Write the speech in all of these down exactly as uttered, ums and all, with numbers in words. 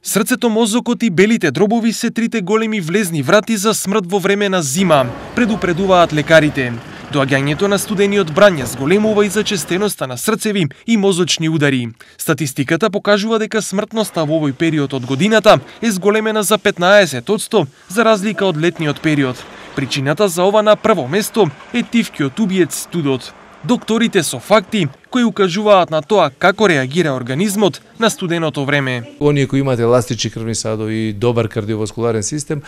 Срцето, мозокот и белите дробови се трите големи влезни врати за смрт во време на зима, предупредуваат лекарите. Доаѓањето на студениот брање зголемува и зачестеноста на срцеви и мозочни удари. Статистиката покажува дека смртноста во овој период од годината е зголемена за петнаесет одсто за разлика од летниот период. Причината за ова на прво место е тивкиот убиец студот. Докторите со факти кои укажуваат на тоа како реагира организмот на студеното време. Оние кои имаат еластични крвни садови и добар кардиоваскуларен систем,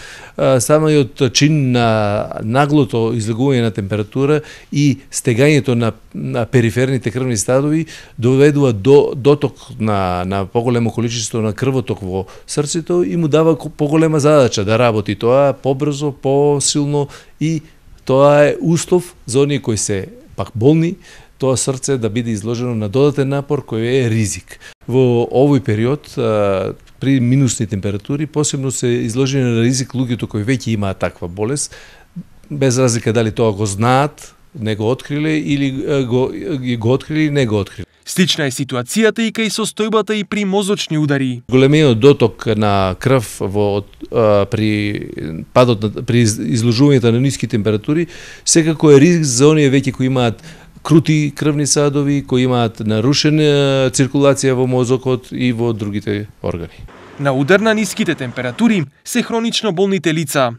самиот чин на наглото излегување на температура и стегањето на, на периферните крвни садови доведува до доток на, на поголемо количество на крвоток во срцето и му дава поголема задача да работи тоа побрзо, посилно, и тоа е услов за оние кои се пак болни, тоа срце да биде изложено на додатен напор кој е ризик. Во овој период, при минусни температури, посебно се изложени на ризик луѓето кои веќе имаат таква болест, без разлика дали тоа го знаат, не го откриле, или го, го откриле или не го откриле. Слична е ситуацијата и кај состојбата и при мозочни удари. Големиот доток на крв во а, при падот на, при изложувањето на ниски температури секако е ризик за оние веќе кои имаат крути крвни садови, кои имаат нарушена циркулација во мозокот и во другите органи. На удар на ниските температури се хронично болните лица.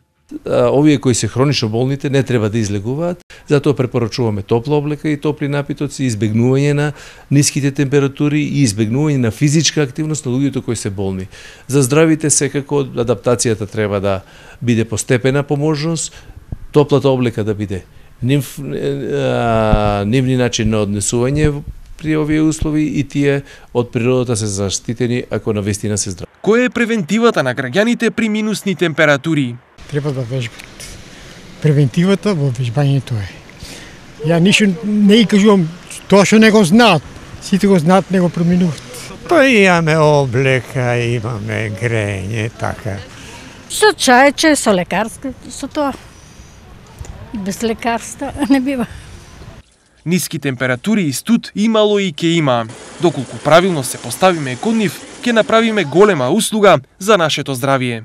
Овие кои се хронично болните не треба да излегуваат, затоа препорачуваме топла облека и топли напитоци, избегнување на ниските температури и избегнување на физичка активност на луѓето кои се болни. За здравите секако адаптацијата треба да биде постепена по можност, топлата облека да биде нив, а, нивни начин на однесување при овие услови и тие од природата се заштитени ако навистина се здрави. Која е превентивата на граѓаните при минусни температури? Треба да вежбат. Превентивата во вежбањето е. Ја ништо не ги кажувам тоа што не го знаат. Сите го знаат, не го преминуваат. Па имаме облека, имаме грење, така. Со чајче, со лекарска, со тоа. Без лекарства не бива. Ниски температури и студ имало и ке има. Доколку правилно се поставиме кон нив, ќе направиме голема услуга за нашето здравие.